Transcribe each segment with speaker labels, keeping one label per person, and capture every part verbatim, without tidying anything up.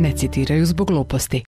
Speaker 1: ne citiraju zbog gluposti.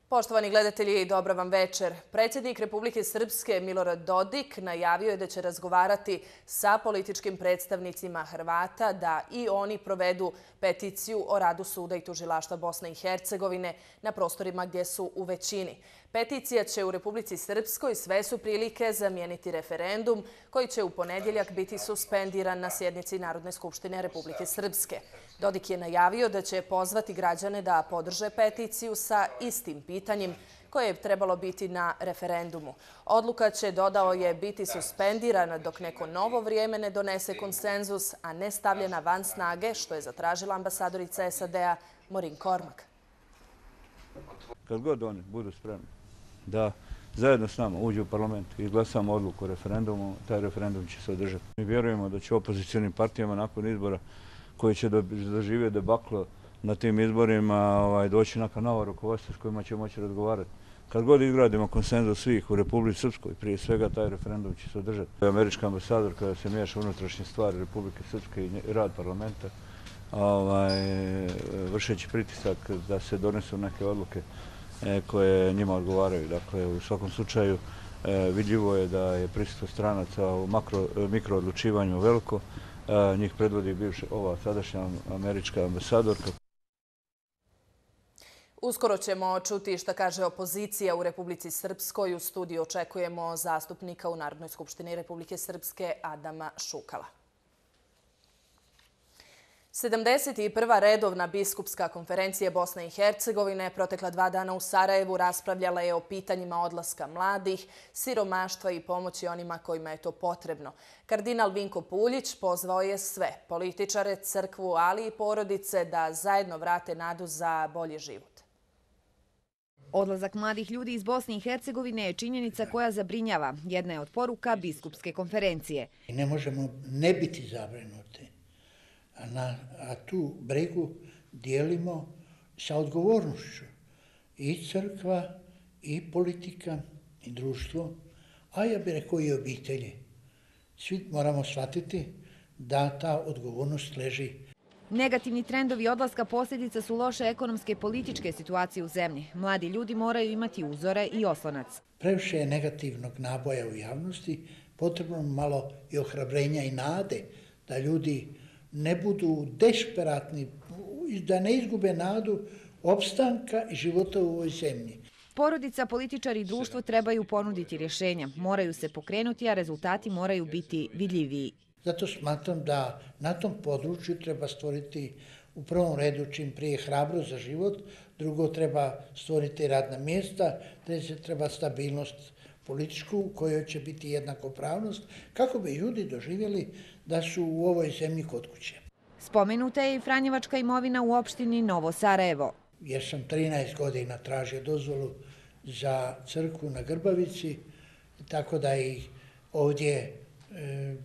Speaker 2: Poštovani gledatelji, dobra vam večer. Predsjednik Republike Srpske Milorad Dodik najavio je da će razgovarati sa političkim predstavnicima Hrvata da i oni provedu peticiju o radu suda i tužilaštva Bosne i Hercegovine na prostorima gdje su u većini. Peticija će u Republici Srpskoj sve su prilike zamijeniti referendum koji će u ponedjeljak biti suspendiran na sjednici Narodne skupštine Republike Srpske. Dodik je najavio da će pozvati građane da podrže peticiju sa istim pitanjem koje je trebalo biti na referendumu. Odluka će, dodao je, biti suspendirana dok neko novo vrijeme ne donese konsenzus, a ne stavljena van snage, što je zatražila ambasadorica S A D-a Maureen Cormack.
Speaker 3: Kad god oni budu spremni da zajedno s nama uđu u parlament i izglasamo odluku o referendumu, taj referendum će se održati. Mi vjerujemo da će opozicionim partijama nakon izbora koji će doživjeti debaklo na tim izborima doći neka nova rukovodstva s kojima će moći razgovarati. Kad god izgradimo konsenzus svih u Republici Srpskoj, prije svega taj referendum će se održati. Američka ambasador kada se miješa unutrašnje stvari Republike Srpske i rad parlamenta, vršeći pritisak da se donesu neke odluke koje njima odgovaraju. Dakle, u svakom slučaju vidljivo je da je prisustvo stranaca u mikroodlučivanju veliko. Njih predvodi ova sadašnja američka ambasadorka.
Speaker 2: Uskoro ćemo čuti šta kaže opozicija u Republici Srpskoj. U studiju očekujemo zastupnika u Narodnoj skupštini Republike Srpske Adama Šukala. sedamdeset prva redovna biskupska konferencija Bosne i Hercegovine protekla dva dana u Sarajevu raspravljala je o pitanjima odlaska mladih, siromaštva i pomoći onima kojima je to potrebno. Kardinal Vinko Puljić pozvao je sve, političare, crkvu, ali i porodice da zajedno vrate nadu za bolji život.
Speaker 4: Odlazak mladih ljudi iz Bosne i Hercegovine je činjenica koja zabrinjava. Jedna je od poruka biskupske konferencije.
Speaker 5: Ne možemo ne biti zabrinuti. A tu brigu dijelimo sa odgovornošću i crkva, i politika, i društvo, a ja bih rekao i obitelji. Svi moramo shvatiti da ta odgovornost leži.
Speaker 4: Negativni trendovi odlaska posljedica su loše ekonomske i političke situacije u zemlji. Mladi ljudi moraju imati uzore i oslonac.
Speaker 5: Previše je negativnog naboja u javnosti, potrebno malo i ohrabrenja i nade da ljudi ne budu desperatni, da ne izgube nadu opstanka i života u ovoj zemlji.
Speaker 4: Porodica, političari i društvo trebaju ponuditi rješenja. Moraju se pokrenuti, a rezultati moraju biti vidljiviji.
Speaker 5: Zato smatram da na tom području treba stvoriti u prvom redu čim prije hrabrost za život, drugo treba stvoriti radna mjesta, treće treba stabilnost političku u kojoj će biti jednakopravnost, kako bi ljudi doživjeli da su u ovoj zemlji kod kuće.
Speaker 4: Spomenuta je i franjevačka imovina u opštini Novo Sarajevo.
Speaker 5: Jer sam trinaest godina tražio dozvolu za crkvu na Grbavici, tako da i ovdje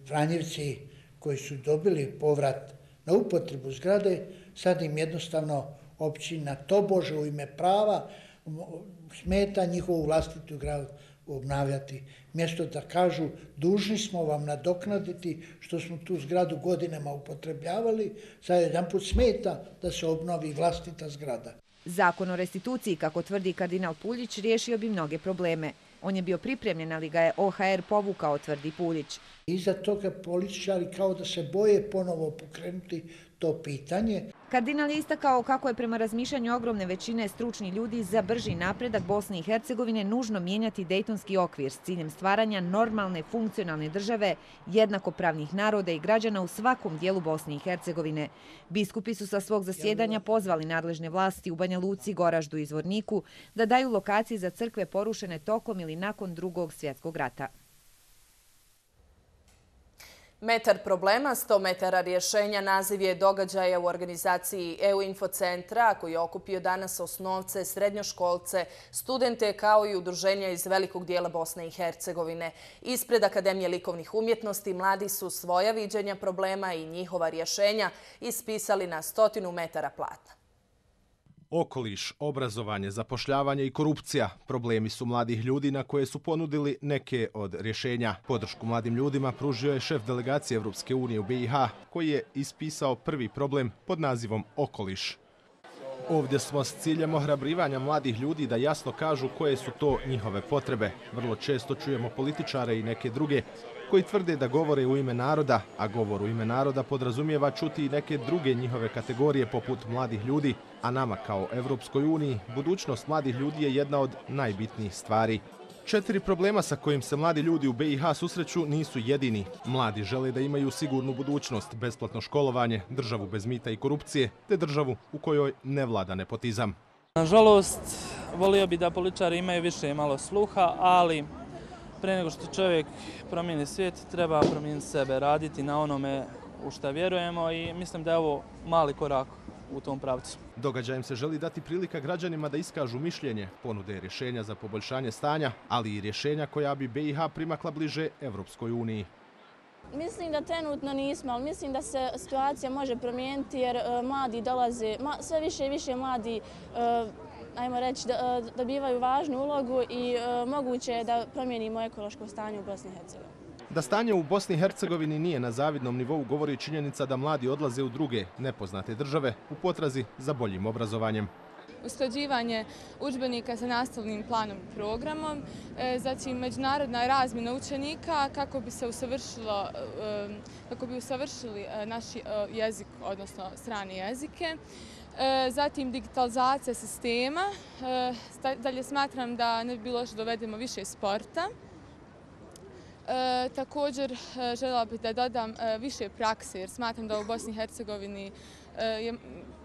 Speaker 5: Franjevci koji su dobili povrat na upotrebu zgrade, sad im jednostavno općina tobože u ime prava smeta njihovu vlastitu zgradu obnavljati. Mjesto da kažu dužni smo vam nadoknaditi što smo tu zgradu godinama upotrebljavali, sad jedan put smeta da se obnovi vlastita zgrada.
Speaker 4: Zakon o restituciji, kako tvrdi kardinal Puljić, riješio bi mnoge probleme. On je bio pripremljen, ali ga je O H R povukao, tvrdi Puljić.
Speaker 5: Iza toga političari kao da se boje ponovo pokrenuti to pitanje.
Speaker 4: Kardinal je istakao kako je prema razmišljanju ogromne većine stručni ljudi za brži napredak Bosne i Hercegovine nužno mijenjati Dejtonski okvir s ciljem stvaranja normalne, funkcionalne države, jednakopravnih naroda i građana u svakom dijelu Bosne i Hercegovine. Biskupi su sa svog zasjedanja pozvali nadležne vlasti u Banja Luci, Goraždu i Zvorniku da daju lokacije za crkve porušene tokom ili nakon Drugog svjetskog rata.
Speaker 2: Metar problema, sto metara rješenja, naziv je događaja u organizaciji E U Infocentra, koji je okupio danas osnovce, srednjoškolce, studente kao i udruženja iz velikog dijela Bosne i Hercegovine. Ispred Akademije likovnih umjetnosti mladi su svoja viđenja problema i njihova rješenja ispisali na stotinu metara platna.
Speaker 6: Okoliš, obrazovanje, zapošljavanje i korupcija problemi su mladih ljudi na koje su ponudili neke od rješenja. Podršku mladim ljudima pružio je šef delegacije Evropske unije u B i H, koji je ispisao prvi problem pod nazivom Okoliš. Ovdje smo s ciljem ohrabrivanja mladih ljudi da jasno kažu koje su to njihove potrebe. Vrlo često čujemo političare i neke druge koji tvrde da govore u ime naroda, a govor u ime naroda podrazumijeva čuti i neke druge njihove kategorije poput mladih ljudi, a nama kao Evropskoj uniji budućnost mladih ljudi je jedna od najbitnijih stvari. Četiri problema sa kojim se mladi ljudi u be i ha susreću nisu jedini. Mladi žele da imaju sigurnu budućnost, besplatno školovanje, državu bez mita i korupcije, te državu u kojoj ne vlada nepotizam.
Speaker 7: Nažalost, volio bi da političari imaju više malo sluha, ali pre nego što čovjek promijeni svijet, treba promijeniti sebe, raditi na onome u što vjerujemo i mislim da je ovo mali korak u tom pravcu.
Speaker 6: Događajem se želi dati prilika građanima da iskažu mišljenje, ponude rješenja za poboljšanje stanja, ali i rješenja koja bi be i ha primakla bliže Evropskoj uniji.
Speaker 8: Mislim da trenutno nismo, ali mislim da se situacija može promijeniti jer uh, mladi dolaze, ma, sve više i više mladi uh, ajmo reći, da, uh, dobivaju važnu ulogu i uh, moguće je da promijenimo ekološko stanje u Bosni i Hercegovini.
Speaker 6: Da stanje u Bosni i Hercegovini nije na zavidnom nivou govori činjenica da mladi odlaze u druge, nepoznate države u potrazi za boljim obrazovanjem.
Speaker 9: Usklađivanje udžbenika sa nastavnim planom i programom, zatim međunarodna razmjena učenika kako bi se usavršilo, kako bi usavršili naš jezik, odnosno strane jezike. Zatim digitalizacija sistema. Dalje smatram da ne bi bilo što dovedemo više sporta. E, također e, željela bih da dodam e, više prakse jer smatram da u Bosni i Hercegovini e, je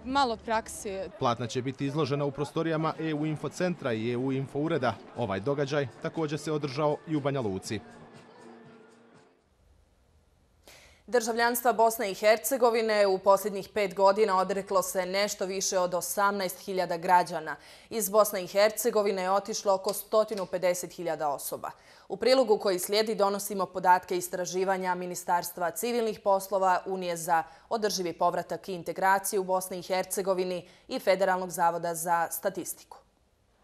Speaker 9: malo prakse.
Speaker 6: Platna će biti izložena u prostorijama e u infocentra i e u info ureda. Ovaj događaj također se održao i u Banja Luci.
Speaker 2: Državljanstva Bosne i Hercegovine u posljednjih pet godina odreklo se nešto više od osamnaest hiljada građana. Iz Bosne i Hercegovine je otišlo oko sto pedeset hiljada osoba. U prilogu koji slijedi donosimo podatke istraživanja Ministarstva civilnih poslova, Unije za održivi povratak i integraciju u Bosni i Hercegovini i Federalnog zavoda za statistiku.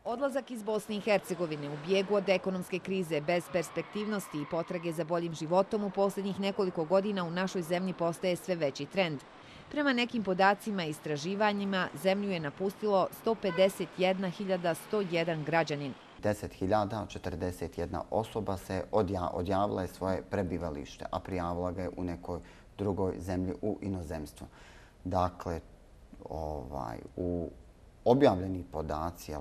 Speaker 4: Odlazak iz Bosne i Hercegovine u bijegu od ekonomske krize, bez perspektivnosti i potrage za boljim životom u posljednjih nekoliko godina u našoj zemlji postaje sve veći trend. Prema nekim podacima i istraživanjima, zemlju je napustilo sto pedeset jedna hiljada sto jedan građanin.
Speaker 10: deset hiljada četrdeset jedna osoba se odjavila je svoje prebivalište, a prijavila ga je u nekoj drugoj zemlji u inozemstvu. Dakle, ovaj, u objavljeni podaci,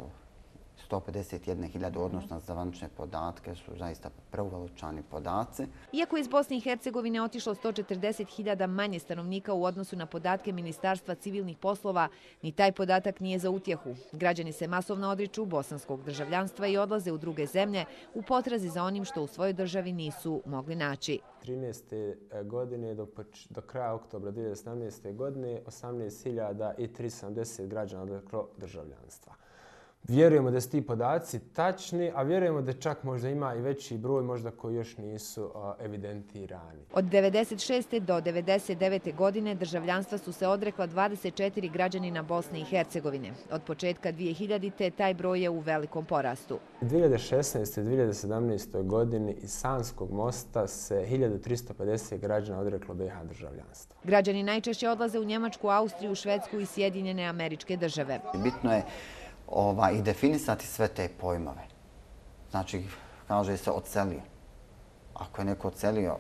Speaker 10: sto pedeset jedna hiljada odnosno zvanične podatke su zaista preuveličani podaci.
Speaker 4: Iako je iz Bosne i Hercegovine otišlo sto četrdeset hiljada manje stanovnika u odnosu na podatke Ministarstva civilnih poslova, ni taj podatak nije za utjehu. Građani se masovno odriču bosanskog državljanstva i odlaze u druge zemlje u potrazi za onim što u svojoj državi nisu mogli naći.
Speaker 11: trinaeste. godine do, do kraja oktobra dvije hiljade sedamnaeste. godine osamnaest hiljada tristo sedamdeset građana odreklo državljanstva. Vjerujemo da su ti podaci tačni, a vjerujemo da čak možda ima i veći broj možda koji još nisu uh, evidentirani.
Speaker 4: Od devedeset šeste. do devedeset devete. godine državljanstva su se odrekla dvadeset četiri građanina Bosne i Hercegovine. Od početka dvije hiljadite. taj broj je u velikom porastu.
Speaker 11: U dvije hiljade šesnaeste. i dvije hiljade sedamnaeste. godini iz Sanskog mosta se hiljadu tristo pedeset građana odreklo be i ha državljanstva.
Speaker 4: Građani najčešće odlaze u Njemačku, Austriju, Švedsku i Sjedinjene Američke Države.
Speaker 10: Bitno je Ova, i definisati sve te pojmove. Znači, kaže se odselio. Ako je neko odselio,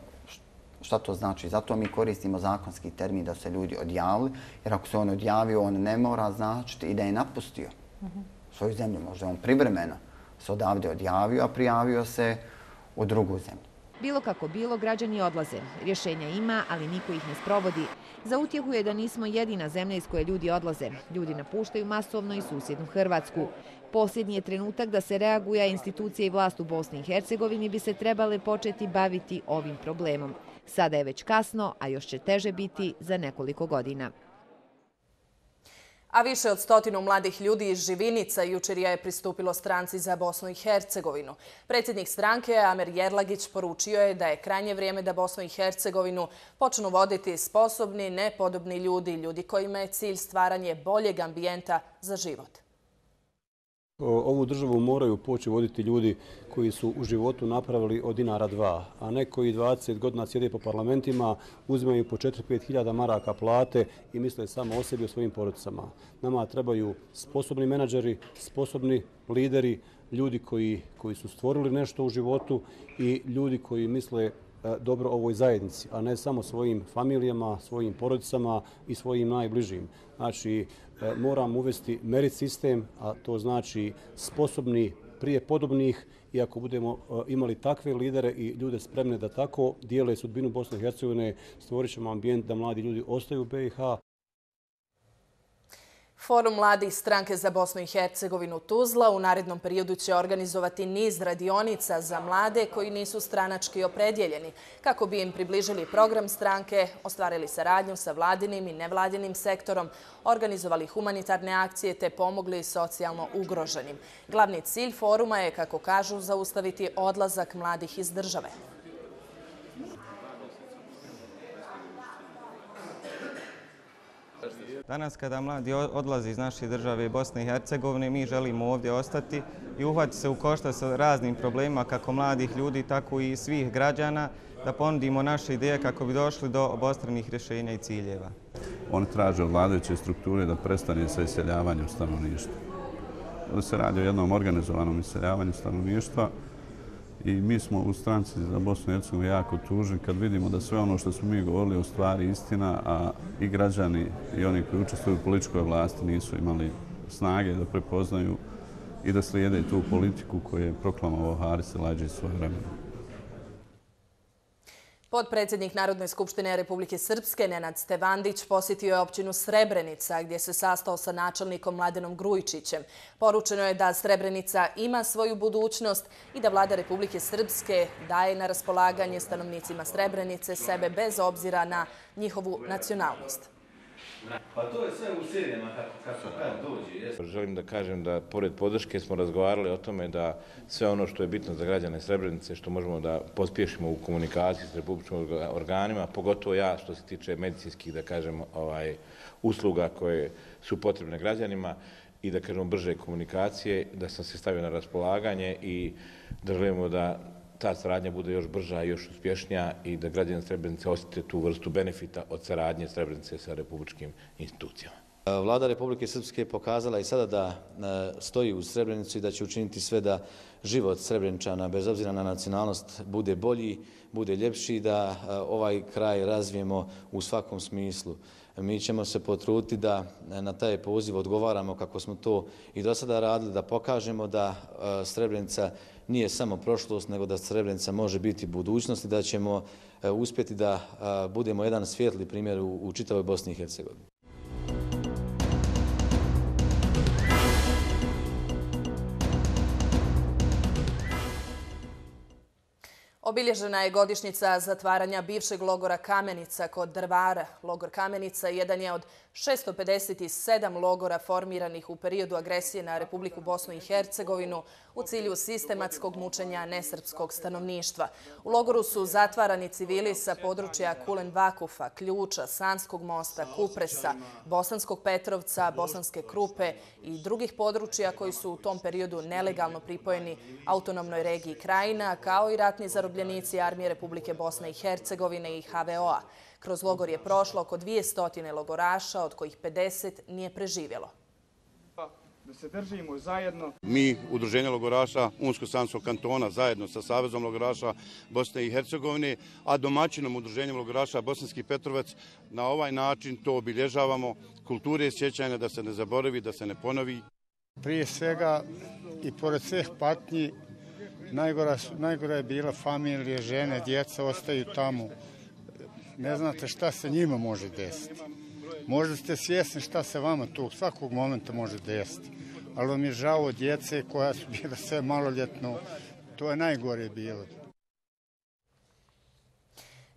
Speaker 10: šta to znači? Zato mi koristimo zakonski termin da se ljudi odjavili, jer ako se on odjavio, on ne mora značiti i da je napustio uh-huh. svoju zemlju. Možda on privremeno se odavde odjavio, a prijavio se u drugu zemlju.
Speaker 4: Bilo kako bilo, građani odlaze. Rješenja ima, ali niko ih ne sprovodi. Za utjehu je da nismo jedina zemlja iz koje ljudi odlaze. Ljudi napuštaju masovno i susjednu Hrvatsku. Posljednji je trenutak da se reaguje, a institucije i vlast u Bosni i Hercegovini bi se trebale početi baviti ovim problemom. Sada je već kasno, a još će teže biti za nekoliko godina.
Speaker 2: A više od stotinu mladih ljudi iz Živinica jučer je pristupilo stranci za Bosnu i Hercegovinu. Predsjednik stranke Amer Jerlagić poručio je da je krajnje vrijeme da Bosnu i Hercegovinu počnu voditi sposobni, nepodobni ljudi, ljudi kojima je cilj stvaranje boljeg ambijenta za život.
Speaker 12: Ovu državu moraju poći voditi ljudi koji su u životu napravili od dinara dva, a ne koji dvadeset godina sjede po parlamentima, uzimaju po četiri do pet hiljada maraka plate i misle samo o sebi i o svojim porodicama. Nama trebaju sposobni menadžeri, sposobni lideri, ljudi koji, koji su stvorili nešto u životu i ljudi koji misle dobro ovoj zajednici, a ne samo svojim familijama, svojim porodicama i svojim najbližim. Znači, moramo uvesti merit sistem, a to znači sposobni prije podobnih, i ako budemo imali takve lidere i ljude spremne da tako dijele sudbinu Bosne i Hercegovine, stvorit ćemo ambijent da mladi ljudi ostaju u B i H.
Speaker 2: Forum mladih stranke za Bosnu i Hercegovinu Tuzla u narednom periodu će organizovati niz radionica za mlade koji nisu stranački opredjeljeni, kako bi im približili program stranke, ostvarili saradnju sa vladinim i nevladinim sektorom, organizovali humanitarne akcije te pomogli socijalno ugroženim. Glavni cilj foruma je, kako kažu, zaustaviti odlazak mladih iz države.
Speaker 13: Danas kada mladi odlaze iz naše države Bosne i Hercegovine, mi želimo ovdje ostati i uhvatiti se u koštac sa raznim problemima kako mladih ljudi, tako i svih građana, da ponudimo naše ideje kako bi došli do obostranih rješenja i ciljeva.
Speaker 14: Oni traže od vladajuće strukture da prestane sa iseljavanjem stanovništva. Ovdje se radi o jednom organizovanom iseljavanju stanovništva i mi smo u stranci za Bosnu i Hercegovinu jako tužni kad vidimo da sve ono što smo mi govorili u stvari istina, a i građani i oni koji učestvuju u političkoj vlasti nisu imali snage da prepoznaju i da slijede tu politiku koju je proklamovao Haris Elađi svoje vremena.
Speaker 2: Potpredsjednik Narodne skupštine Republike Srpske Nenad Stevandić posjetio je općinu Srebrenica gdje se sastao sa načelnikom Mladenom Grujičićem. Poručeno je da Srebrenica ima svoju budućnost i da vlada Republike Srpske daje na raspolaganje stanovnicima Srebrenice sebe bez obzira na njihovu nacionalnost.
Speaker 15: Pa to je sve u serijama kako kad dođe.
Speaker 16: Želim da kažem da pored podrške smo razgovarali o tome da sve ono što je bitno za građane Srebrenice, što možemo da pospješimo u komunikaciji s republičkim organima, pogotovo ja što se tiče medicinskih, da kažem, ovaj, usluga koje su potrebne građanima i da kažemo brže komunikacije, da sam se stavio na raspolaganje i da želimo da ta saradnja bude još brža i još uspješnija i da građani Srebrenice osjete tu vrstu benefita od saradnje Srebrenice sa republičkim institucijama.
Speaker 17: Vlada Republike Srpske pokazala i sada da stoji uz Srebrenicu i da će učiniti sve da život Srebreničana, bez obzira na nacionalnost, bude bolji, bude ljepši, da ovaj kraj razvijemo u svakom smislu. Mi ćemo se potruditi da na taj poziv odgovaramo kako smo to i do sada radili, da pokažemo da Srebrenica nije samo prošlost, nego da Srebrenica može biti budućnost i da ćemo uspjeti da budemo jedan svijetli primjer u čitavoj Bosni i Hercegovini.
Speaker 2: Obilježena je godišnjica zatvaranja bivšeg logora Kamenica kod Drvara. Logor Kamenica jedan je od šesto pedeset sedam logora formiranih u periodu agresije na Republiku Bosnu i Hercegovinu u cilju sistematskog mučenja nesrpskog stanovništva. U logoru su zatvarani civili sa područja Kulen Vakufa, Ključa, Sanskog mosta, Kupresa, Bosanskog Petrovca, Bosanske Krupe i drugih područja koji su u tom periodu nelegalno pripojeni autonomnoj regiji Krajina, kao i ratni zarobljenici Armije Republike Bosne i Hercegovine i H V O-a. Kroz logor je prošlo oko dvjesto logoraša, od kojih pedeset nije preživjelo.
Speaker 18: Da se držimo zajedno.
Speaker 19: Mi, Udruženje logoraša Unsko-Sanskog kantona, zajedno sa Savezom logoraša Bosne i Hercegovine, a domaćinom Udruženjem logoraša Bosanski Petrovac, na ovaj način to obilježavamo, kulture sjećanja da se ne zaboravi, da se ne ponovi.
Speaker 18: Prije svega i pored svih patnji, najgora, najgora je bila familije, žene, djeca ostaju tamo. Ne znate šta se njima može desiti. Možda ste svjesni šta se vama tu svakog momenta može desiti. Ali vam je žao od djece koja su bila sve maloljetno. To je najgore bilo.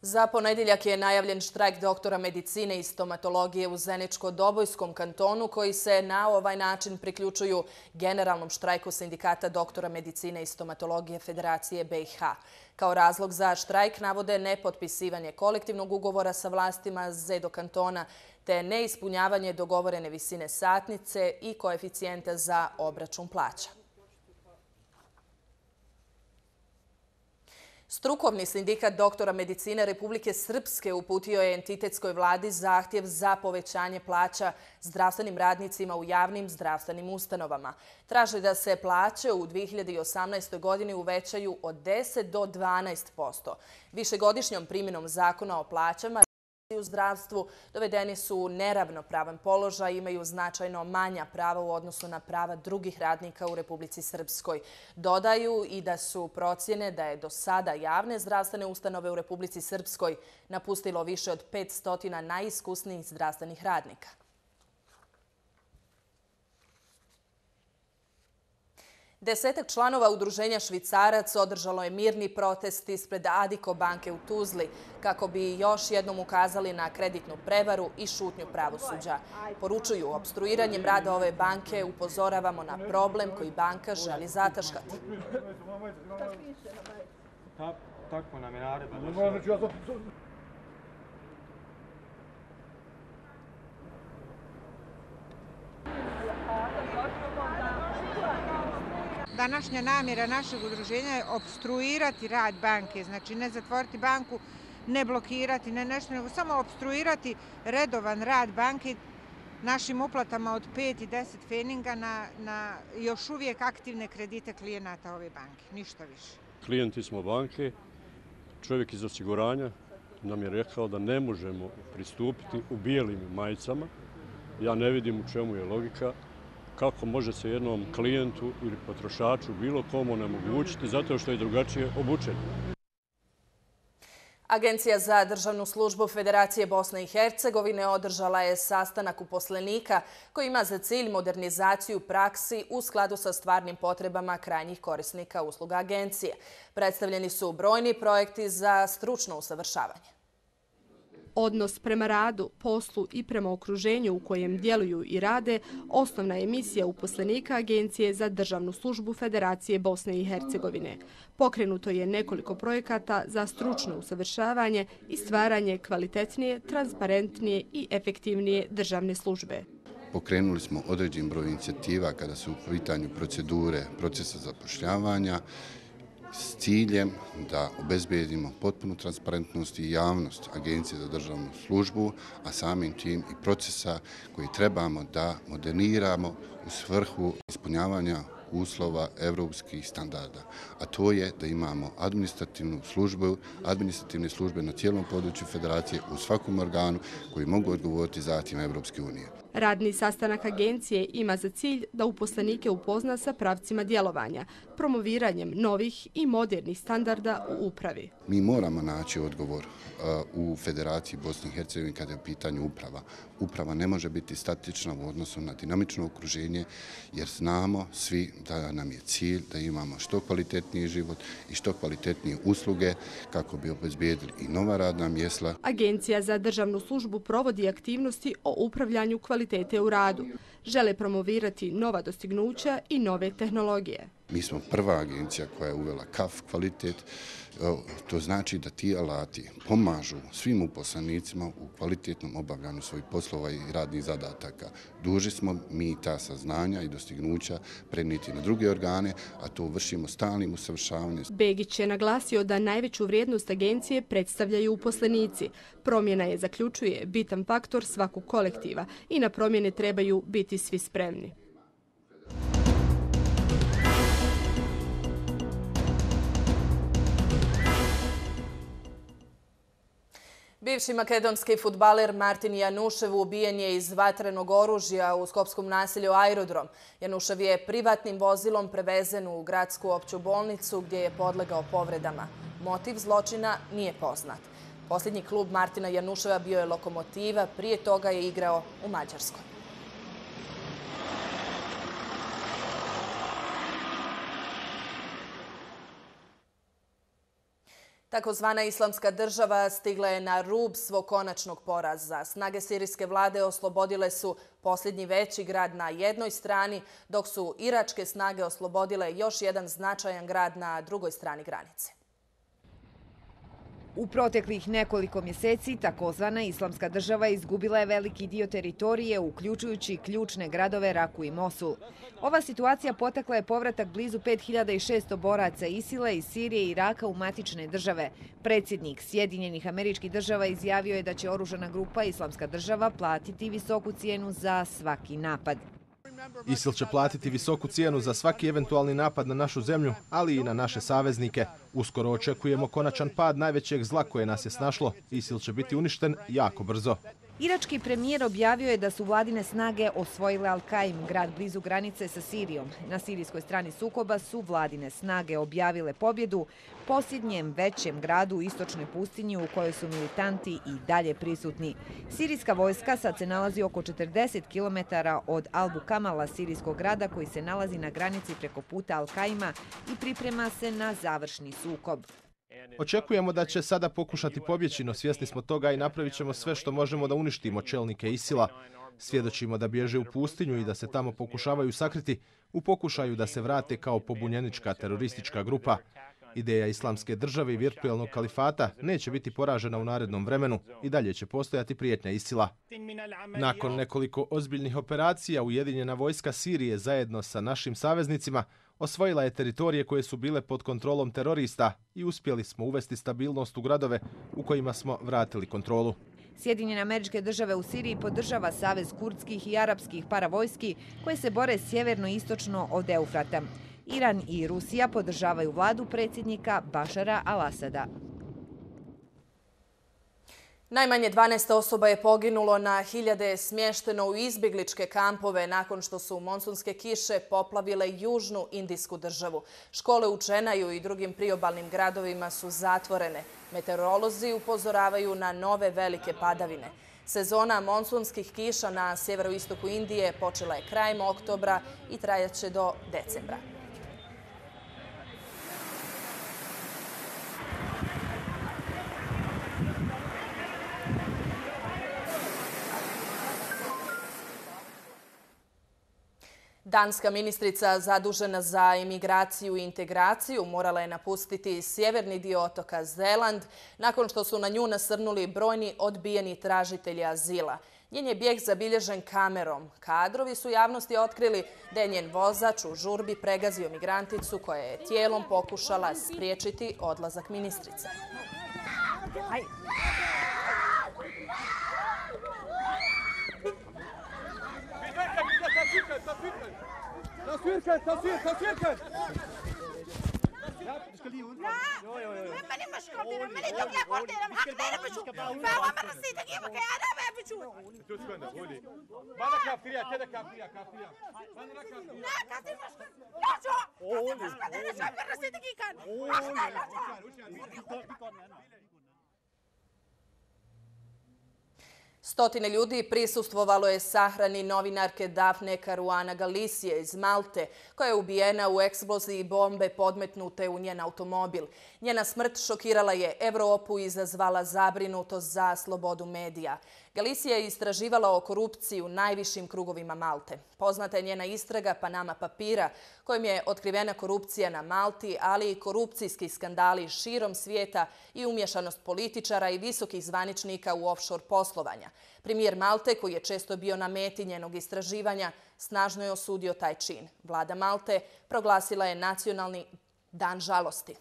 Speaker 2: Za ponedjeljak je najavljen štrajk doktora medicine i stomatologije u Zeničko-Dobojskom kantonu koji se na ovaj način priključuju generalnom štrajku sindikata doktora medicine i stomatologije Federacije B i H. Kao razlog za štrajk navode nepotpisivanje kolektivnog ugovora sa vlastima Zedo kantona te neispunjavanje dogovorene visine satnice i koeficijenta za obračun plaća. Strukovni sindikat doktora medicine Republike Srpske uputio je entitetskoj vladi zahtjev za povećanje plaća zdravstvenim radnicima u javnim zdravstvenim ustanovama. Traže da se plaće u dvije hiljade osamnaestoj godini uvećaju od deset do dvanaest posto. Višegodišnjom primjenom zakona o plaćama u zdravstvu dovedeni su u neravnopravan položaj i imaju značajno manja prava u odnosu na prava drugih radnika u Republici Srpskoj. Dodaju i da su procjene da je do sada javne zdravstvene ustanove u Republici Srpskoj napustilo više od petsto najiskusnijih zdravstvenih radnika. Desetak članova udruženja Švicarac održalo je mirni protest ispred Adiko banke u Tuzli kako bi još jednom ukazali na kreditnu prevaru i šutnju pravosuđa. Poručuju, opstruiranjem rada ove banke upozoravamo na problem koji banka želi zataškati.
Speaker 15: Tako nam je naredba.
Speaker 20: Današnja namjera našeg udruženja je opstruirati rad banke, znači ne zatvoriti banku, ne blokirati, ne nešto, nego samo opstruirati redovan rad banke našim uplatama od pet i deset feninga na, na još uvijek aktivne kredite klijenata ove banke, ništa više.
Speaker 21: Klijenti smo banke, čovjek iz osiguranja nam je rekao da ne možemo pristupiti u bijelim majicama. Ja ne vidim u čemu je logika. Kako može se jednom klijentu ili potrošaču bilo komu onemogućiti zato što je drugačije obučen.
Speaker 2: Agencija za državnu službu Federacije Bosne i Hercegovine održala je sastanak uposlenika koji ima za cilj modernizaciju praksi u skladu sa stvarnim potrebama krajnjih korisnika usluga agencije. Predstavljeni su brojni projekti za stručno usavršavanje.
Speaker 22: Odnos prema radu, poslu i prema okruženju u kojem djeluju i rade osnovna je misija uposlenika Agencije za državnu službu Federacije Bosne i Hercegovine. Pokrenuto je nekoliko projekata za stručno usavršavanje i stvaranje kvalitetnije, transparentnije i efektivnije državne službe.
Speaker 23: Pokrenuli smo određen broj inicijativa kada su u pitanju procedure procesa zapošljavanja s ciljem da obezbedimo potpunu transparentnost i javnost Agencije za državnu službu, a samim tim i procesa koji trebamo da moderniramo u svrhu ispunjavanja uslova evropskih standarda. A to je da imamo administrativnu službu, administrativne službe na cijelom području Federacije u svakom organu koji mogu odgovoriti zahtjevima Evropske unije.
Speaker 22: Radni sastanak agencije ima za cilj da uposlenike upozna sa pravcima djelovanja, promoviranjem novih i modernih standarda u upravi.
Speaker 23: Mi moramo naći odgovor u Federaciji Bosne i Hercegovine kada je u pitanju uprava. Uprava ne može biti statična u odnosu na dinamično okruženje jer znamo svi da nam je cilj da imamo što kvalitetniji život i što kvalitetnije usluge kako bi obezbijedili i nova radna mjesta.
Speaker 22: Agencija za državnu službu provodi aktivnosti o upravljanju kvalitete u radu. Žele promovirati nova dostignuća i nove tehnologije.
Speaker 23: Mi smo prva agencija koja je uvela K A F kvalitet. To znači da ti alati pomažu svim uposlenicima u kvalitetnom obavljanju svojih poslova i radnih zadataka. Dužni smo mi ta saznanja i dostignuća prenijeti na druge organe, a to vršimo stalnim usavršavanjem.
Speaker 22: Begić je naglasio da najveću vrijednost agencije predstavljaju uposlenici. Promjena je, zaključuje, bitan faktor svakog kolektiva i na promjene trebaju biti svi spremni.
Speaker 2: Bivši makedonski fudbaler Martin Janušev ubijen je iz vatrenog oružja u skopskom naselju Aerodrom. Janušev je privatnim vozilom prevezen u gradsku opću bolnicu gdje je podlegao povredama. Motiv zločina nije poznat. Posljednji klub Martina Januševa bio je Lokomotiva, prije toga je igrao u Mađarskoj. Takozvana islamska država stigla je na rub svog konačnog poraza. Snage sirijske vlade oslobodile su posljednji veći grad na jednoj strani, dok su iračke snage oslobodile još jedan značajan grad na drugoj strani granice.
Speaker 4: U proteklih nekoliko mjeseci takozvana islamska država izgubila je veliki dio teritorije, uključujući ključne gradove Raku i Mosul. Ova situacija potakla je povratak blizu pet hiljada šesto boraca Isila iz Sirije i Iraka u matične države. Predsjednik Sjedinjenih Američkih Država izjavio je da će oružana grupa Islamska država platiti visoku cijenu za svaki napad.
Speaker 6: ISIL će platiti visoku cijenu za svaki eventualni napad na našu zemlju, ali i na naše saveznike. Uskoro očekujemo konačan pad najvećeg zla koje nas je snašlo. ISIL će biti uništen jako brzo.
Speaker 4: Irački premijer objavio je da su vladine snage osvojile Al-Qaim, grad blizu granice sa Sirijom. Na sirijskoj strani sukoba su vladine snage objavile pobjedu posljednjem većem gradu u istočnoj pustinji u kojoj su militanti i dalje prisutni. Sirijska vojska sad se nalazi oko četrdeset kilometara od Albu Kamala, sirijskog grada koji se nalazi na granici preko puta Al-Qaima i priprema se na završni sukob.
Speaker 6: Očekujemo da će sada pokušati pobjeći, no svjesni smo toga i napravit ćemo sve što možemo da uništimo čelnike ISIL-a. Svjedočimo da bježe u pustinju i da se tamo pokušavaju sakriti u pokušaju da se vrate kao pobunjenička teroristička grupa. Ideja islamske države i virtualnog kalifata neće biti poražena u narednom vremenu i dalje će postojati prijetnja ISIL-a. Nakon nekoliko ozbiljnih operacija, Ujedinjena vojska Sirije zajedno sa našim saveznicima osvojila je teritorije koje su bile pod kontrolom terorista i uspjeli smo uvesti stabilnost u gradove u kojima smo vratili kontrolu.
Speaker 4: Sjedinjene Američke Države u Siriji podržava savez kurdskih i arapskih paravojski koje se bore sjeverno-istočno od Eufrata. Iran i Rusija podržavaju vladu predsjednika Bašara al-Asada.
Speaker 2: Najmanje dvanaest osoba je poginulo, na hiljade je smješteno u izbjegličke kampove nakon što su monsunske kiše poplavile južnu indijsku državu. Škole u Čenaju i drugim priobalnim gradovima su zatvorene. Meteorolozi upozoravaju na nove velike padavine. Sezona monsunskih kiša na sjeveroistoku Indije počela je krajem oktobra i trajaće do decembra. Danska ministrica zadužena za imigraciju i integraciju morala je napustiti sjeverni dio otoka Zeland nakon što su na nju nasrnuli brojni odbijeni tražitelji azila. Njen je bijeg zabilježen kamerom. Kadrovi su javnosti otkrili da je njen vozač u žurbi pregazio migranticu koja je tijelom pokušala spriječiti odlazak ministrice.
Speaker 1: تصوير تصوير تصوير كان ماني مش قادرة ماني دولة قادرة محققين بشوف فهو من نسيت أجيبك يا أنا ما بشوف ما أنا كافية كده كافية كافية لا كافية لا شو مش قادرة شو من نسيت أجيبك
Speaker 2: Stotine ljudi prisustvovalo je sahrani novinarke Dafne Caruana Galicije iz Malte, koja je ubijena u eksploziji bombe podmetnute u njen automobil. Njena smrt šokirala je Evropu i izazvala zabrinutost za slobodu medija. Galicija je istraživala o korupciji u najvišim krugovima Malte. Poznata je njena istraga Panama papira, kojim je otkrivena korupcija na Malti, ali i korupcijski skandali širom svijeta i umješanost političara i visokih zvaničnika u offshore poslovanja. Premijer Malte, koji je često bio na meti njenog istraživanja, snažno je osudio taj čin. Vlada Malte proglasila je nacionalni dan žalosti.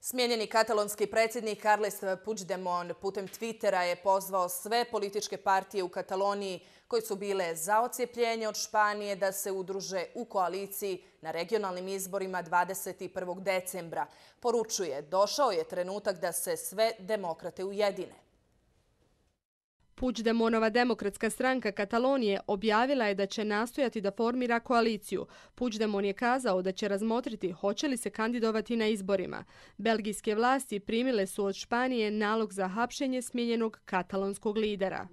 Speaker 2: Smijenjeni katalonski predsjednik Carles Puigdemont putem Twittera je pozvao sve političke partije u Kataloniji koje su bile za odcijepljenje od Španije da se udruže u koaliciji na regionalnim izborima dvadeset prvog decembra. Poručuje, došao je trenutak da se sve demokrate ujedine.
Speaker 22: Puigdemonova demokratska stranka Katalonije objavila je da će nastojati da formira koaliciju. Puigdemont je kazao da će razmotriti hoće li se kandidovati na izborima. Belgijske vlasti primile su od Španije nalog za hapšenje smijenjenog katalonskog lidera.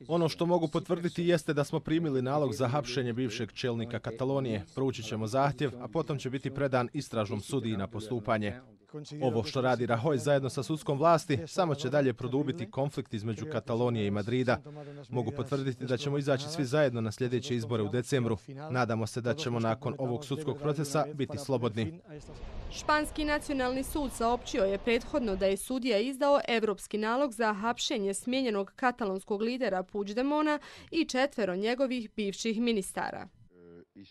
Speaker 6: Ono što mogu potvrditi jeste da smo primili nalog za hapšenje bivšeg čelnika Katalonije. Proučit ćemo zahtjev, a potom će biti predan istražnom sudiji na postupanje. Ovo što radi Rajoy zajedno sa sudskom vlasti samo će dalje produbiti konflikt između Katalonije i Madrida. Mogu potvrditi da ćemo izaći svi zajedno na sljedeće izbore u decembru. Nadamo se da ćemo nakon ovog sudskog procesa biti slobodni.
Speaker 22: Španski nacionalni sud saopćio je prethodno da je sudija izdao evropski nalog za hapšenje smijenjenog katalonskog lidera Puigdemona i četvero njegovih bivših ministara.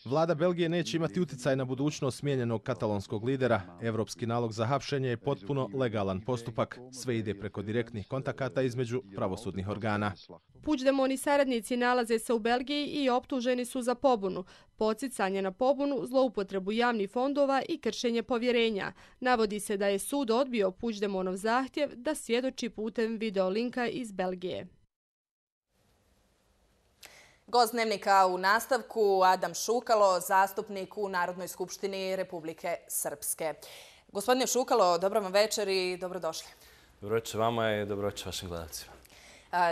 Speaker 6: Vlada Belgije neće imati utjecaj na budućnost smijenjenog katalonskog lidera. Evropski nalog za hapšenje je potpuno legalan postupak. Sve ide preko direktnih kontakata između pravosudnih organa.
Speaker 22: Puigdemont i saradnici nalaze se u Belgiji i optuženi su za pobunu, podsticanje na pobunu, zloupotrebu javnih fondova i kršenje povjerenja. Navodi se da je sud odbio Puigdemontov zahtjev da svjedoči putem videolinka iz Belgije.
Speaker 2: Gost Dnevnika u nastavku Adam Šukalo, zastupnik u Narodnoj skupštini Republike Srpske. Gospodine Šukalo, dobro vam večer i dobrodošli.
Speaker 3: Dobro večer vama i dobro večer vašim gledalcima.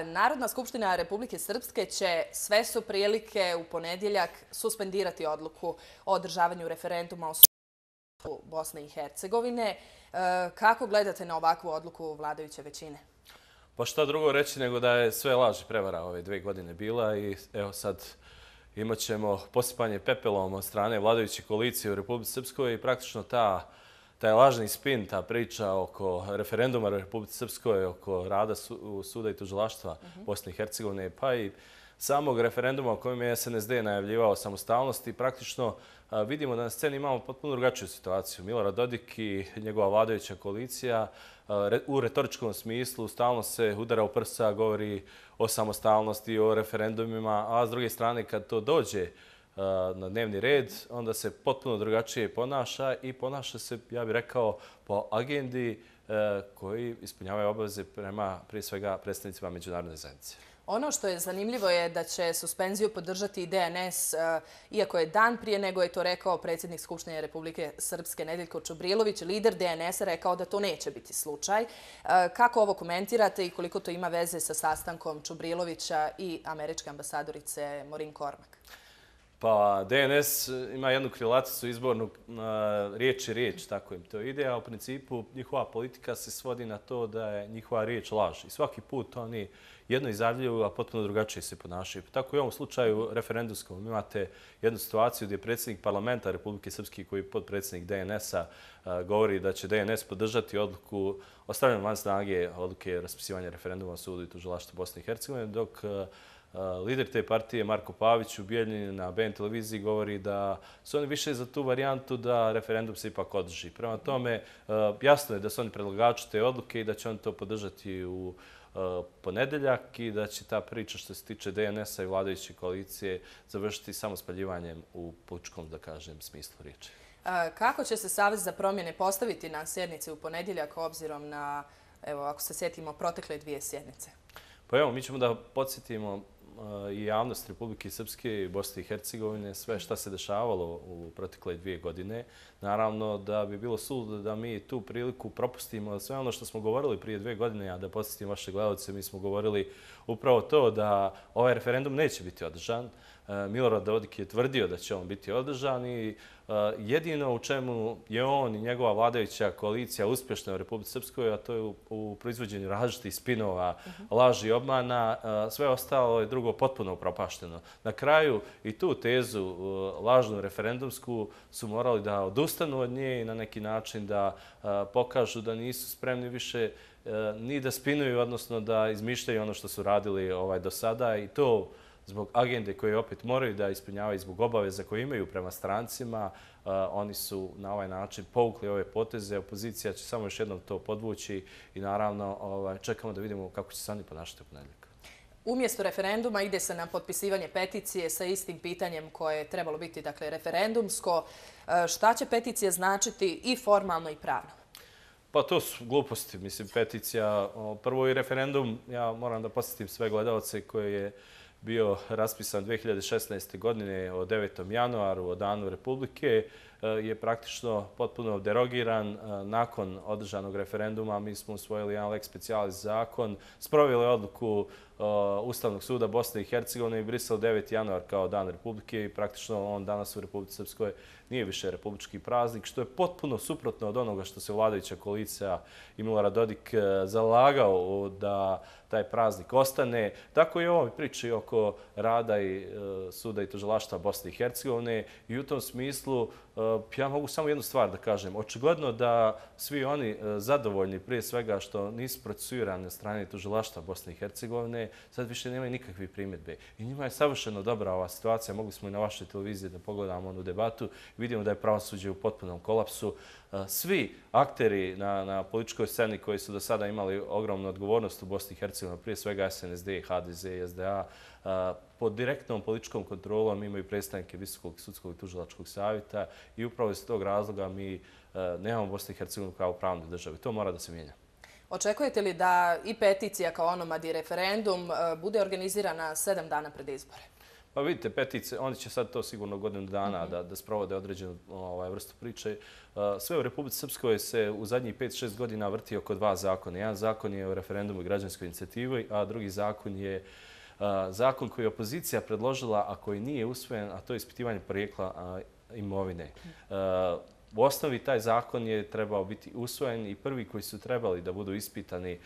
Speaker 2: Narodna skupština Republike Srpske će sve su prilike u ponedjeljak suspendirati odluku o održavanju referenduma o suverenitetu Bosne i Hercegovine. Kako gledate na ovakvu odluku vladajuće većine?
Speaker 3: Pa šta drugo reći nego da je sve laž i prevara ove dve godine bila i evo sad imat ćemo posipanje pepelom od strane vladajuće koalicije u Republici Srpskoj i praktično ta, taj lažni spin, ta priča oko referenduma u Republici Srpskoj, oko rada su, suda i tužilaštva uh-huh. Bosne i Hercegovine, pa i samog referenduma u kojem je S N S D najavljivao samostalnost i praktično a, vidimo da na sceni imamo potpuno drugačiju situaciju. Milorad Dodik i njegova vladajuća koalicija u retoričkom smislu stalno se udara u prsa, govori o samostalnosti, o referendumima, a s druge strane kad to dođe na dnevni red, onda se potpuno drugačije ponaša i ponaša se, ja bih rekao, po agendi koji ispunjavaju obaveze prema prije svega predstavnicima međunarodne zajednice.
Speaker 2: Ono što je zanimljivo je da će suspenziju podržati i D N S, iako je dan prije nego je to rekao predsjednik Skupštine Republike Srpske Nedeljko Čubrilović, lider D N S-a rekao da to neće biti slučaj. Kako ovo komentirate i koliko to ima veze sa sastankom Čubrilovića i američke ambasadorice Maureen Cormack?
Speaker 3: Pa D N S ima jednu krilaticu izbornu riječ i riječ, tako im to ide, a u principu njihova politika se svodi na to da je njihova riječ laž. I svaki put oni jedno izjavljuju, a potpuno drugačije se ponašaju. Tako i u ovom slučaju referendumskom imate jednu situaciju gdje predsjednik parlamenta Republike Srpske, koji je podpredsjednik D N S-a, govori da će D N S podržati odluku o stavljanju van snage odluke raspisivanja referenduma o sudu i tužilaštvu Bosne i Hercegovine, dok lider te partije Marko Pavić u Bijeljini na B N televiziji govori da su oni više za tu varijantu da referendum se ipak održi. Prema tome, jasno je da su oni predlagači te odluke i da će oni to podržati u ponedeljak i da će ta priča što se tiče D N S-a i vladajuće koalicije završiti samo spaljivanjem u političkom, da kažem, smislu riječi.
Speaker 2: Kako će se Savez za promjene postaviti na sjednici u ponedjeljak obzirom na, evo, ako se sjetimo, protekle dvije sjednice?
Speaker 3: Pa evo, mi ćemo da podsjetimo i javnost Republike Srpske i Bosne i Hercegovine sve šta se dešavalo u protekle dvije godine. Naravno da bi bilo suludo da mi tu priliku propustimo sve ono što smo govorili prije dvije godine, a da podsjetim vaše gledalce, mi smo govorili upravo to da ovaj referendum neće biti održan. Milorad Dodik je tvrdio da će on biti održan i jedino u čemu je on i njegova vladajuća koalicija uspješna u Republici Srpskoj, a to je u proizvođenju različitih spinova, laži i obmana, sve ostalo je drugo potpuno upropašteno. Na kraju i tu tezu lažnu referendumsku su morali da odustanu od nje i na neki način da pokažu da nisu spremni više ni da spinuju, odnosno da izmišljaju ono što su radili ovaj do sada i to zbog agende koje opet moraju da ispunjavaju zbog obaveza koje imaju prema strancima. Oni su na ovaj način povukli ove poteze. Opozicija će samo još jednom to podvući i naravno čekamo da vidimo kako će se oni ponašati u ponedjeljak.
Speaker 2: Umjesto referenduma ide se na potpisivanje peticije sa istim pitanjem koje je trebalo biti, dakle, referendumsko. Šta će peticija značiti i formalno i pravno?
Speaker 3: Pa to su gluposti. Mislim, peticija, prvo i referendum, ja moram da posjetim sve gledalce koje je bio raspisan dve hiljade šesnaeste. godine o devetom januaru, o Danu Republike, je praktično potpuno derogiran. Nakon održanog referenduma mi smo usvojili jedan lex specialis zakon, sproveli odluku Ustavnog suda Bosne i Hercegovine i brisali deveti januar kao Dan Republike i praktično on danas u Republici Srpskoj nije više republički praznik, što je potpuno suprotno od onoga što se vladajuća koalicija i Milorad Dodik zalagao da taj praznik ostane. Tako i ovo priči oko rada i suda i tužilaštva Bosne i Hercegovine i u tom smislu ja mogu samo jednu stvar da kažem. Očigledno da svi oni zadovoljni prije svega što nisu procesuirani na strane tužilaštva Bosne i Hercegovine, sad više nemaju nikakve primjedbe. I njima je savršeno dobra ova situacija. Mogli smo i na vašoj televiziji da pogledamo onu debatu. Vidimo da je pravosuđe u potpunom kolapsu. Svi akteri na, na političkoj sceni koji su do sada imali ogromnu odgovornost u Bosni i Hercegovini, prije svega S N S D, H D Z i S D A, pod direktnom političkom kontrolom imaju predstavnike Visokog sudskog i tužilačkog savjeta i upravo iz tog razloga mi nemamo Bosnu i Hercegovinu kao pravnu državu. To mora da se mijenja.
Speaker 2: Očekujete li da i peticija kao onomad i referendum bude organizirana sedam dana pred izbore?
Speaker 3: Pa vidite, petice, oni će sad to sigurno godinu dana da, da sprovode određenu ovaj, vrstu priče. Sve u Republici Srpskoj se u zadnjih pet šest godina vrti oko dva zakona. Jedan zakon je o referendumu i građanskoj inicijativi, a drugi zakon je zakon koji je opozicija predložila, a koji nije usvojen, a to je ispitivanje porijekla imovine. U osnovi taj zakon je trebao biti usvojen i prvi koji su trebali da budu ispitani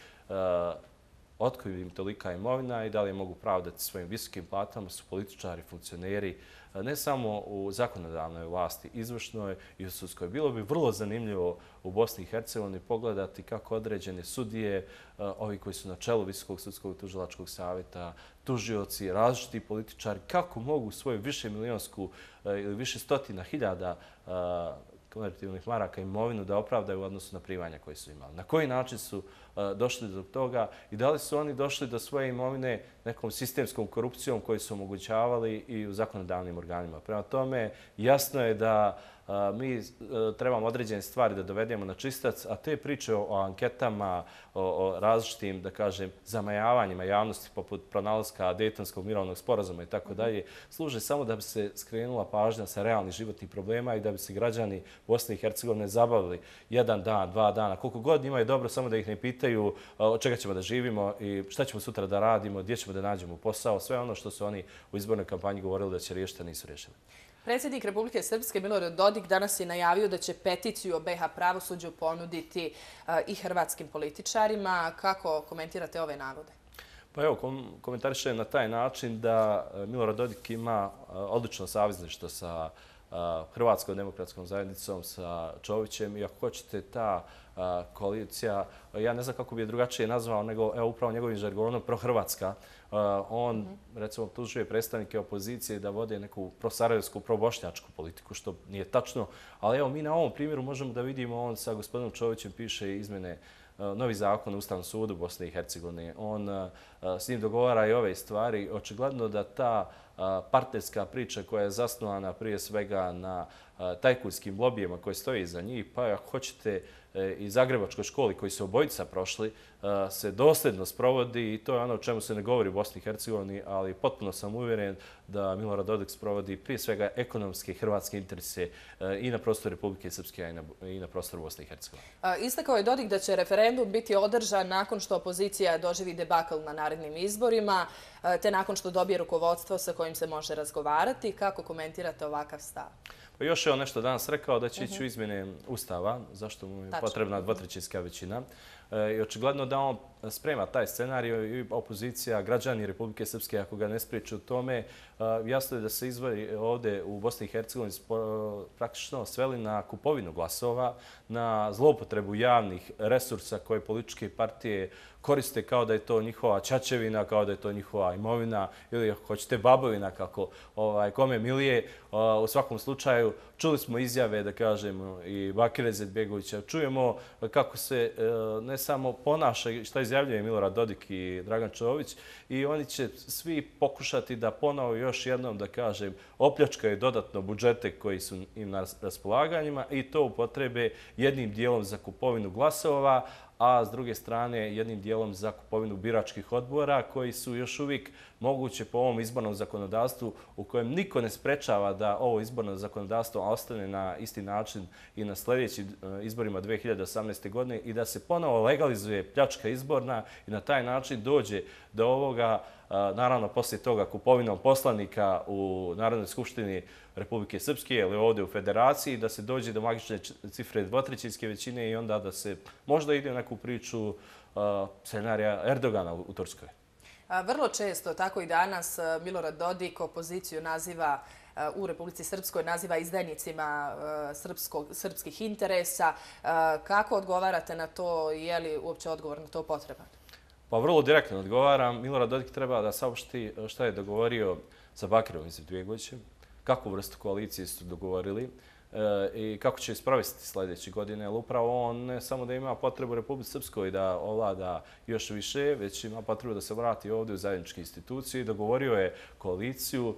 Speaker 3: otkud im tolika imovina i da li je mogu pravdati svojim visokim platama su političari, funkcioneri, ne samo u zakonodavnoj vlasti, izvršnoj i u sudskoj. Bilo bi vrlo zanimljivo u Bosni i Hercegovini pogledati kako određene sudije, ovi koji su na čelu Visokog sudskog i tužilačkog savjeta, tužioci, različiti političari, kako mogu svoju više milionsku ili više stotina hiljada konvertibilnih maraka imovinu da opravdaju u odnosu na primanja koje su imali. Na koji način su došli do toga i da li su oni došli do svoje imovine nekom sistemskom korupcijom koju su omogućavali i u zakonodavnim organima. Prema tome, jasno je da mi trebamo određene stvari da dovedemo na čistac, a te priče o anketama, o različitim, da kažem, zamajavanjima javnosti poput pronalaska Dejtonskog mirovnog sporazuma i tako dalje, služe samo da bi se skrenula pažnja sa realnih životnih problema i da bi se građani Bosne i Hercegovine zabavili jedan dan, dva dana, koliko god njima je dobro, samo da ih ne pitaju od čega ćemo da živimo i šta ćemo sutra da radimo, gdje ćemo da nađemo posao, sve ono što su oni u izbornoj kampanji govorili da će riješiti, a nisu riješili.
Speaker 2: Predsjednik Republike Srpske Milorad Dodik danas je najavio da će peticiju o B iH pravosuđu ponuditi i hrvatskim političarima. Kako komentirate ove navode?
Speaker 3: Pa evo, komentarišem na taj način da Milorad Dodik ima odlično savezništvo sa Hrvatskom demokratskom zajednicom, sa Čovićem i ako hoćete ta koalicija, ja ne znam kako bi je drugačije nazvao nego evo upravo njegovim žargonom prohrvatska. On, recimo, optužuje predstavnike opozicije da vode neku prosarajevsku, probošnjačku politiku, što nije tačno. Ali evo, mi na ovom primjeru možemo da vidimo, on sa gospodinom Čovićem piše izmjene novi zakon o Ustavnom sudu Bosne i Hercegovine. On s njim dogovara i ove stvari. Očigledno da ta partnerska priča koja je zasnovana prije svega na tajkunskim lobijima koje stoje iza njih, pa ako hoćete i Zagrebačkoj školi koji su obojica prošli, se dosljedno sprovodi i to je ono o čemu se ne govori u Bosni i Hercegovini, ali potpuno sam uvjeren da Milorad Dodik sprovodi prije svega ekonomske i hrvatske interese i na prostoru Republike Srpske i na prostoru Bosne i Hercegovine.
Speaker 2: Istakao je Dodik da će referendum biti održan nakon što opozicija doživi debakl na narednim izborima, te nakon što dobije rukovodstvo sa kojim se može razgovarati. Kako komentirate ovakav stav?
Speaker 3: Pa još je on nešto danas rekao da će ići u izmjene Ustava, zašto mu je potrebna dvotrećinska većina. I očigledno da on sprema taj scenarij i opozicija, građani Republike Srpske, ako ga ne spriječe u tome, jasno je da se izvori ovdje u Bosni i Hercegovini praktično sveli na kupovinu glasova, na zloupotrebu javnih resursa koje političke partije koriste kao da je to njihova ćaćevina, kao da je to njihova imovina ili ako hoćete babovina kako ovaj, kome milije. U svakom slučaju čuli smo izjave, da kažemo, i Bakira Izetbegovića. Čujemo kako se ne ne samo ponaša šta izjavljuje Milorad Dodik i Dragan Čović, i oni će svi pokušati da ponovo još jednom, da kažem, opljačkaju dodatno budžete koji su im na raspolaganjima i to upotrebe jednim dijelom za kupovinu glasova, a s druge strane jednim dijelom za kupovinu biračkih odbora koji su još uvijek moguće po ovom izbornom zakonodavstvu u kojem niko ne sprečava da ovo izborno zakonodavstvo ostane na isti način i na sljedećim izborima dve hiljade osamnaeste. godine i da se ponovo legalizuje pljačka izborna i na taj način dođe do ovoga, naravno poslije toga kupovinom poslanika u Narodnoj skupštini Republike Srpske ili ovdje u Federaciji, da se dođe do magične cifre dvotrećinske većine i onda da se možda ide u neku priču scenarija Erdogana u Turskoj.
Speaker 2: Vrlo često, tako i danas, Milorad Dodik opoziciju naziva u Republici Srpskoj naziva izdajnicima srpskih interesa. Kako odgovarate na to? Je li uopće odgovor na to potreban?
Speaker 3: Pa vrlo direktno odgovaram. Milorad Dodik treba da saopšti šta je dogovorio sa Bakirom Izetbegovićem, kakvu vrstu koalicije su dogovorili i kako će sprovesti sljedeće godine. Jer upravo on ne samo da ima potrebu u Republici Srpskoj da ovlada još više, već ima potrebu da se vrati ovdje u zajedničke institucije i dogovorio je koaliciju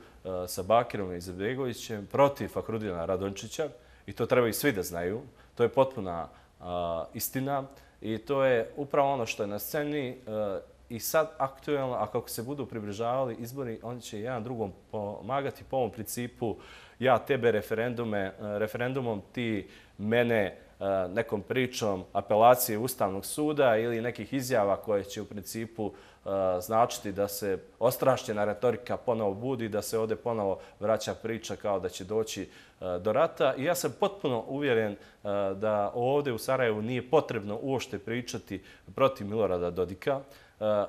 Speaker 3: sa Bakirom Izetbegovićem protiv Fahrudina Radončića i to treba i svi da znaju. To je potpuna istina. I to je upravo ono što je na sceni i sad aktuelno, a kako se budu približavali izbori, oni će jedan drugom pomagati po ovom principu ja tebe referendumom, ti mene nekom pričom apelacije Ustavnog suda ili nekih izjava koje će u principu značiti da se ostrašćena retorika ponovo budi, da se ovdje ponovo vraća priča kao da će doći do rata. I ja sam potpuno uvjeren da ovdje u Sarajevu nije potrebno uopšte pričati protiv Milorada Dodika.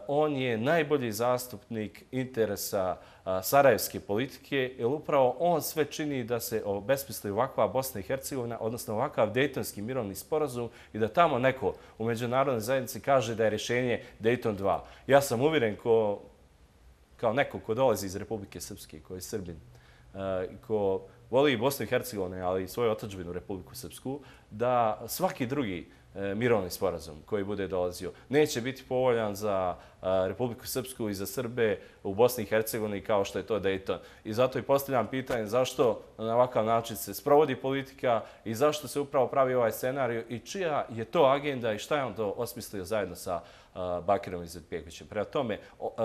Speaker 3: On je najbolji zastupnik interesa sarajevske politike, jer upravo on sve čini da se obesmisli ovakva Bosna i Hercegovina, odnosno ovakav Dejtonski mirovni sporazum i da tamo neko u međunarodnoj zajednici kaže da je rješenje Dejton dva. Ja sam uvjeren kao neko ko dolazi iz Republike Srpske, ko je Srbin, ko voli Bosnu i Hercegovinu, ali i svoju otadžbinu Republiku Srpsku, da svaki drugi mirovni sporazum koji bude dolazio neće biti povoljan za Republiku Srpsku i za Srbe u Bosni i Hercegovini kao što je to Dejton. I zato i postavljam pitanje zašto na ovakav način se sprovodi politika i zašto se upravo pravi ovaj scenarij i čija je to agenda i šta je on to osmislio zajedno sa Bakirom Izetbegovićem. Prema tome,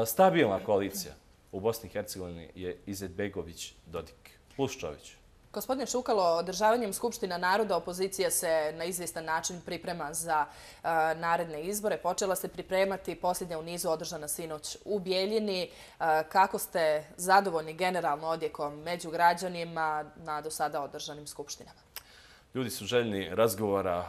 Speaker 3: stabilna koalicija u Bosni i Hercegovini je Izetbegović-Dodik plus Čović.
Speaker 2: Gospodine Šukalo, održavanjem Skupština naroda opozicija se na izvjestan način priprema za naredne izbore. Počela se pripremati posljednja u nizu održana sinoć u Bijeljini. Kako ste zadovoljni generalno odjekom među građanima na do sada održanim skupštinama?
Speaker 3: Ljudi su željni razgovora,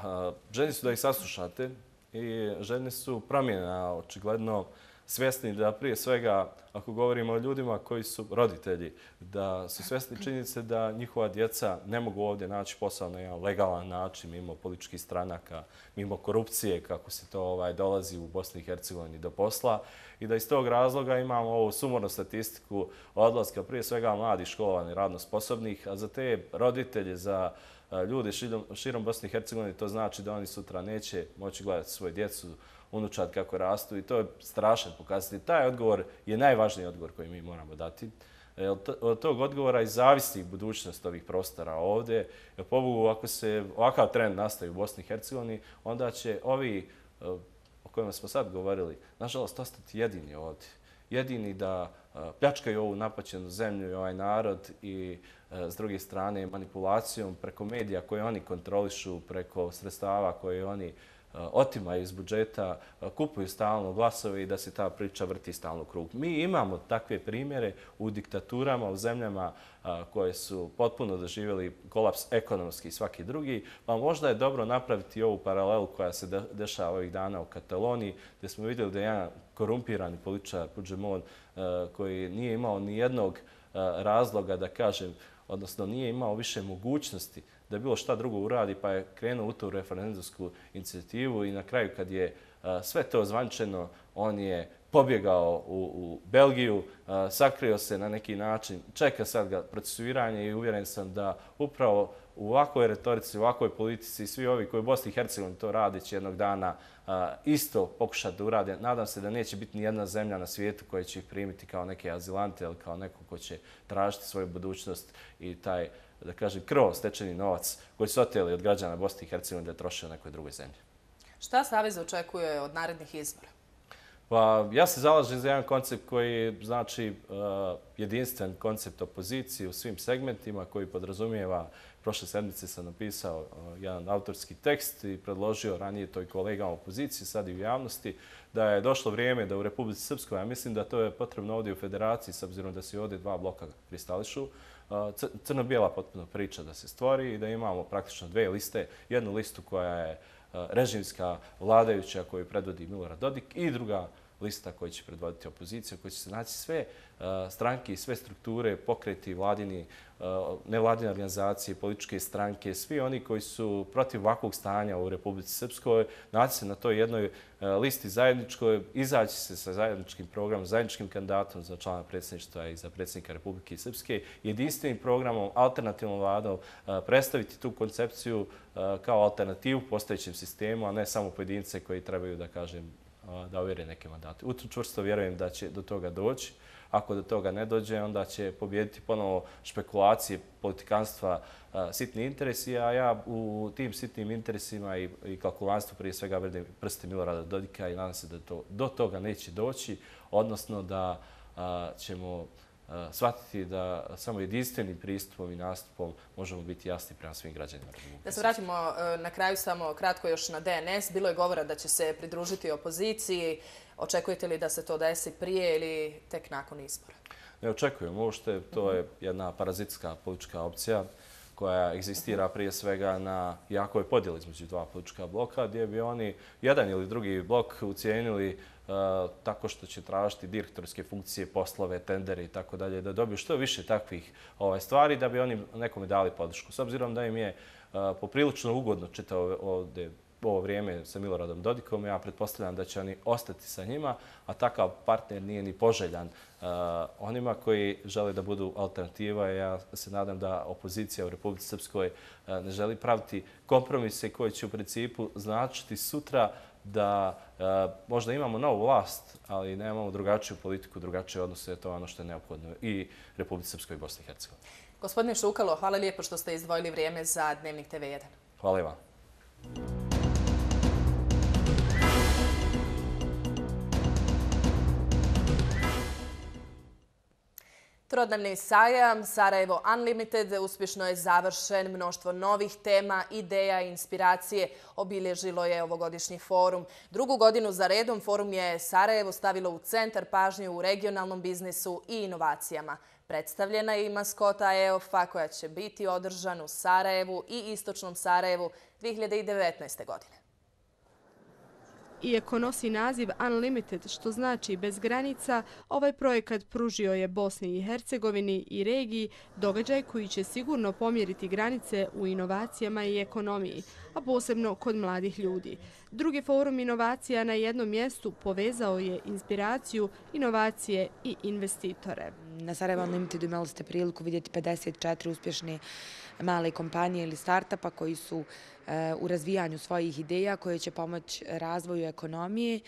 Speaker 3: željni su da ih saslušate i željni su promjena, očigledno svjesni da prije svega, ako govorimo o ljudima koji su roditelji, da su svjesni činjenice da njihova djeca ne mogu ovdje naći posao na jedan legalan način, mimo političkih stranaka, mimo korupcije, kako se to ovaj, dolazi u Bosni i Hercegovini do posla. I da iz tog razloga imamo ovu sumornu statistiku odlaska prije svega mladih, školovanih, radno sposobnih, a za te roditelje, za ljude širom Bosne i Hercegovine, to znači da oni sutra neće moći gledati svoju djecu, unučad kako rastu i to je strašan pokazatelj. Taj odgovor je najvažniji odgovor koji mi moramo dati. Od tog odgovora i zavisi budućnost ovih prostora ovdje. Pobogu, ako se ovakav trend nastavi u Bosni i Hercegovini, onda će ovi o kojima smo sad govorili, nažalost, ostati jedini ovdje. Jedini da pljačkaju ovu napaćenu zemlju i ovaj narod i s druge strane manipulacijom preko medija koje oni kontrolišu, preko sredstava koje oni otimaju iz budžeta, kupuju stalno glasove i da se ta priča vrti stalno u krug. Mi imamo takve primjere u diktaturama, u zemljama koje su potpuno doživjeli kolaps ekonomski i svaki drugi, pa možda je dobro napraviti ovu paralelu koja se dešava ovih dana u Kataloniji, gdje smo vidjeli da je jedan korumpirani političar Puigdemont koji nije imao ni jednog razloga da kažem, odnosno nije imao više mogućnosti da bilo šta drugo uradi, pa je krenuo u tu referendumsku inicijativu i na kraju kad je sve to ozvančeno, on je pobjegao u, u Belgiju, sakrio se na neki način, čeka sad ga procesuiranje i uvjeren sam da upravo u ovakvoj retorici, u ovakvoj politici, svi ovi koji u Bosni i Hercegovini to rade će jednog dana isto pokušati da urade. Nadam se da neće biti ni jedna zemlja na svijetu koja će ih primiti kao neke azilante ili kao neko ko će tražiti svoju budućnost i taj, da kažem, krv stečeni novac koji su oteli od građana Bosne i Hercegovine da troše u nekoj drugoj zemlji.
Speaker 2: Šta Savez očekuje od narednih izbora?
Speaker 3: Pa, ja se zalažem za jedan koncept koji znači uh, jedinstven koncept opozicije u svim segmentima koji podrazumijeva, prošle sedmice sam napisao uh, jedan autorski tekst i predložio ranije to i kolegama opozicije, sad i u javnosti, da je došlo vrijeme da u Republici Srpskoj, ja mislim da to je potrebno ovdje u Federaciji, s obzirom da se ovdje dva bloka kristališu, uh, crno-bijela potpuno priča da se stvori i da imamo praktično dve liste, jednu listu koja je režimska vladajuća koju predvodi Milorad Dodik i druga lista koja će predvoditi opoziciju, koja će se naći sve stranke i sve strukture, pokreti, vladini, nevladine organizacije, političke stranke, svi oni koji su protiv ovakvog stanja u Republici Srpskoj, naći se na toj jednoj listi zajedničkoj, izaći se sa zajedničkim programom, zajedničkim kandidatom za člana predsjedništva i za predsjednika Republike Srpske, jedinstvenim programom, alternativnom vladom, predstaviti tu koncepciju kao alternativu postojećem sistemu, a ne samo pojedince koji trebaju, da kažem, da ovjere neke mandate. U to čvrsto vjerujem da će do toga doći. Ako do toga ne dođe, onda će pobijediti ponovo špekulacije, politikanstva, sitni interesi, a ja u tim sitnim interesima i, i kalkulanstvu prije svega vidim prsti Milorada Dodika i nadam se da to, do toga neće doći, odnosno da a, ćemo a, shvatiti da samo jedinstvenim pristupom i nastupom možemo biti jasni prema svim građanima.
Speaker 2: Da se vratimo na kraju samo kratko još na D N S. Bilo je govora da će se pridružiti opoziciji. Očekujete li da se to desi prije ili tek nakon izbora?
Speaker 3: Ne očekujem uopšte. To je jedna parazitska politička opcija koja egzistira prije svega na jakoj podjeli između dva politička bloka, gdje bi oni jedan ili drugi blok ucijenili uh, tako što će tražiti direktorske funkcije, poslove, tendere i tako dalje, da dobiju što više takvih ovaj, stvari da bi oni nekome dali podršku. S obzirom da im je uh, poprilično ugodno čitao ovdje ovo vrijeme sa Miloradom Dodikom, ja pretpostavljam da će oni ostati sa njima, a takav partner nije ni poželjan uh, onima koji žele da budu alternativa. Ja se nadam da opozicija u Republici Srpskoj uh, ne želi praviti kompromise koji će u principu značiti sutra da uh, možda imamo novu vlast, ali nemamo drugačiju politiku, drugačije odnose, to je ono što je neophodno i Republici Srpskoj i Bosni i Hercegovini.
Speaker 2: Gospodine Šukalo, hvala lijepo što ste izdvojili vrijeme za Dnevnik T V jedan.
Speaker 3: Hvala i vam.
Speaker 2: Trodnevni sajam Sarajevo Unlimited uspješno je završen. Mnoštvo novih tema, ideja i inspiracije obilježilo je ovogodišnji forum. Drugu godinu za redom forum je Sarajevo stavilo u centar pažnje u regionalnom biznisu i inovacijama. Predstavljena je i maskota E O F-a koja će biti održan u Sarajevu i istočnom Sarajevu dvije hiljade devetnaeste. godine.
Speaker 22: Iako nosi naziv Unlimited, što znači bez granica, ovaj projekat pružio je Bosni i Hercegovini i regiji događaj koji će sigurno pomjeriti granice u inovacijama i ekonomiji, a posebno kod mladih ljudi. Drugi forum inovacija na jednom mjestu povezao je inspiraciju, inovacije i investitore.
Speaker 5: Na Sarajevo Unlimited imali ste priliku vidjeti pedeset četiri uspješne male kompanije ili startupa koji su u razvijanju svojih ideja koje će pomoći razvoju ekonomije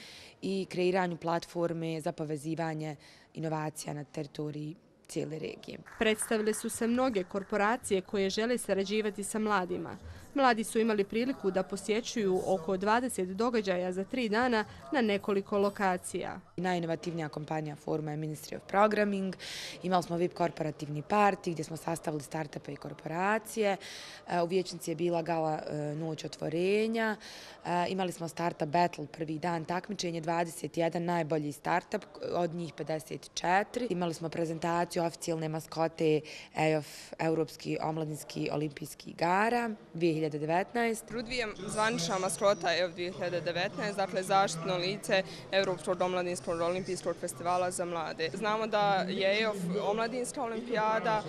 Speaker 5: i kreiranju platforme za povezivanje inovacija na teritoriji cijele regije.
Speaker 22: Predstavile su se mnoge korporacije koje žele sarađivati sa mladima. Mladi su imali priliku da posjećuju oko dvadeset događaja za tri dana na nekoliko lokacija.
Speaker 5: Najinovativnija kompanija foruma je Ministry of Programming. Imali smo V I P korporativni party gdje smo sastavili startupe i korporacije. U Vijećnici je bila gala noć otvorenja. Imali smo startup battle prvi dan takmičenje, dvadeset jedan najbolji startup, od njih pedeset četiri. Imali smo prezentaciju oficijalne maskote E O F, Europski omladinski olimpijski igara dvije hiljade devetnaeste.
Speaker 7: Rudvijem zvanična maskota E O F dvije hiljade devetnaeste, dakle zaštitno lice Europskog omladinskog olimpijskog festivala za mlade. Znamo da je E O F omladinska olimpijada,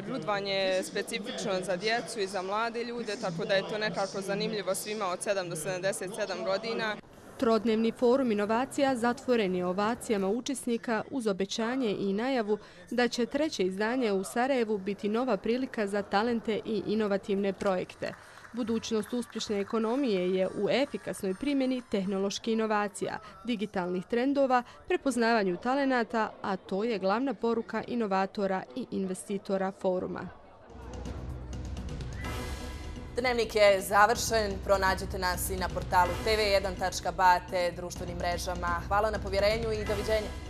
Speaker 7: Rudvan je specifično za djecu i za mlade ljude, tako da je to nekako zanimljivo svima od sedam do sedamdeset sedam godina.
Speaker 22: Trodnevni forum inovacija zatvoren je ovacijama učesnika uz obećanje i najavu da će treće izdanje u Sarajevu biti nova prilika za talente i inovativne projekte. Budućnost uspješne ekonomije je u efikasnoj primjeni tehnoloških inovacija, digitalnih trendova, prepoznavanju talenata, a to je glavna poruka inovatora i investitora foruma.
Speaker 2: Dnevnik je završen. Pronađite nas i na portalu te ve jedan tačka ba te društvenim mrežama. Hvala na povjerenju i doviđenja.